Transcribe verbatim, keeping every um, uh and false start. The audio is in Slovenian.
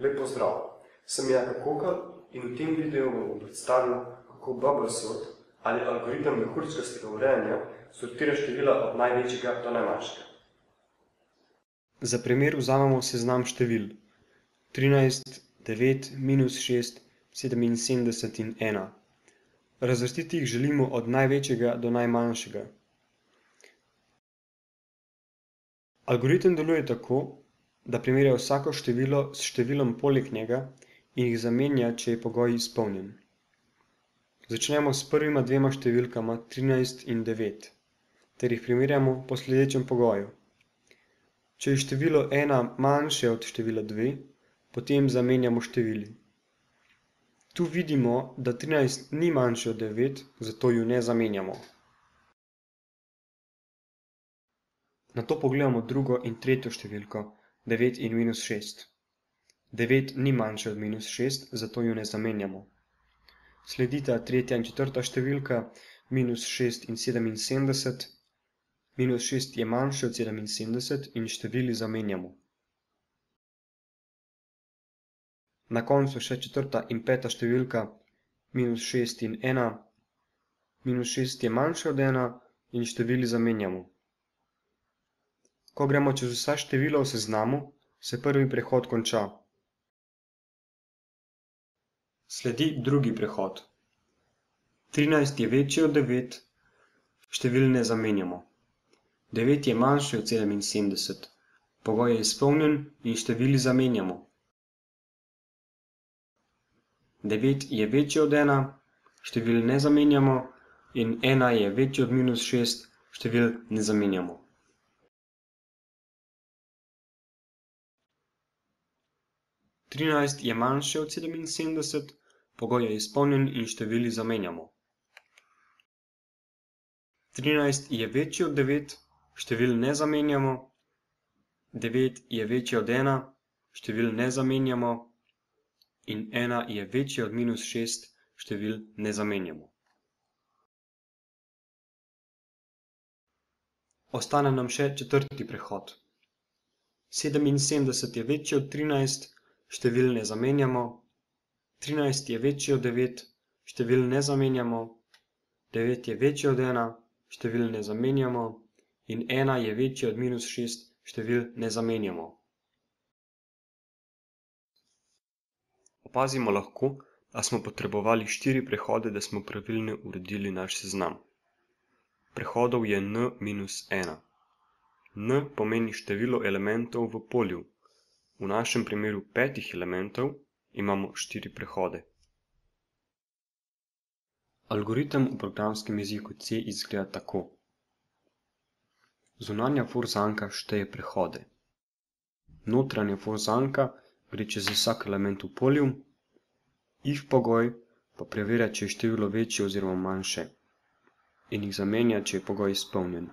Lep pozdrav, sem Jaka Kokal in v tem videu bom predstavil, kako Bubblesort ali algoritem mehurčkastega urejanja sortira števila od največjega do najmanjšega. Za primer vzamemo seznam števil trinajst, devet, minus šest, sedeminsedemdeset in ena. Razvrstiti jih želimo od največjega do najmanjšega. Algoritem deluje tako, da primerja vsako število s številom poleg njega in jih zamenja, če je pogoj izpolnjen. Začnemo s prvima dvema številkama trinajst in devet, ter jih primerjamo po sledečem pogoju. Če je število ena manjše od števila dve, potem zamenjamo števili. Tu vidimo, da trinajst ni manjše od devet, zato ju ne zamenjamo. Nato pogledamo drugo in tretjo številko, devet in minus šest. devet ni manjše od minus šest, zato ju ne zamenjamo. Sledita tretja in četrta številka, minus šest in sedeminsedemdeset. Minus šest je manjše od sedeminsedemdeset in števili zamenjamo. Na koncu še četrta in peta številka, minus šest in ena. Minus šest je manjše od ena in števili zamenjamo. Ko gremo čez vsa števila v seznamu, se prvi prehod konča. Sledi drugi prehod. trinajst je večji od devet, števil ne zamenjamo. devet je manjši od sedeminsedemdeset, pogoj je izpolnjen in števili zamenjamo. devet je večji od ena, števil ne zamenjamo in ena je večji od minus šest, števil ne zamenjamo. trinajst je manjše od sedeminsedemdeset, pogoj je izpolnjen in števili zamenjamo. trinajst je večji od devet, števil ne zamenjamo. devet je večji od ena, števil ne zamenjamo. In ena je večji od minus šest, števil ne zamenjamo. Ostane nam še četrti prehod. sedeminsedemdeset je večji od trinajst, števil ne zamenjamo. trinajst je večji od devet, števil ne zamenjamo. devet je večji od ena, števil ne zamenjamo. In ena je večji od minus šest, števil ne zamenjamo. Opazimo lahko, da smo potrebovali štiri prehode, da smo pravilno uredili naš seznam. Prehodov je n minus ena. N pomeni število elementov v polju. V našem primeru petih elementov imamo štiri prehode. Algoritem v programskem jeziku C izgleda tako. Zunanja for zanka šteje prehode. Notranja for zanka gre čez vsak element v polju, if pogoj pa preverja, če je število večje oziroma manjše in jih zamenja, če je pogoj izpolnjen.